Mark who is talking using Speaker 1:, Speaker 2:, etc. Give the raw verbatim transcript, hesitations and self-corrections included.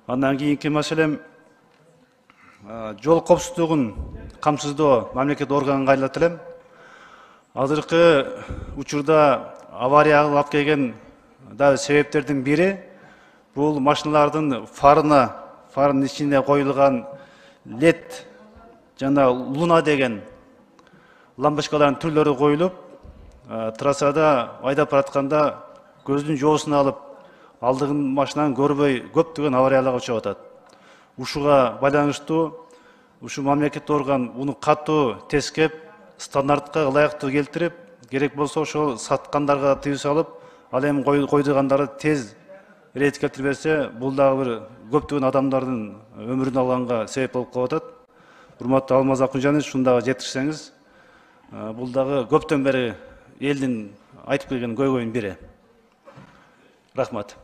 Speaker 1: Андан кийинки маселем жол коопсуздугун камсыздоо мамлекет органга айланат элем. Азыркы учурда аварияга алып келген дагы себептердин бири бул машиналардын фарына, фарынын ичине коюлган лед жана луна деген лампочкалардын түрлөрү коюлуп, трассада айдап баратканда көздүн жоосун алып, алдыгы машинаны көрбөй көптөгөн аварияларга учуп атат. Ушуга байланыштуу ушу мамлекет орган уну катуу тескеп, стандартка ылайыктуу келтирип, керек болсо ошол саткандарга тыюу салып, ал эми койдугандарды тез рейд келтирип берсе, бул дагы бир көптөгөн адамдардын өмүрүн алганга себеп болуп калып атат. Урматтуу Алмаз Акунжанович, ушуну дагы жеткирсеңиз, бул дагы көптөн бери элдин айтып келген көйгөйүнүн бири. Рахмат.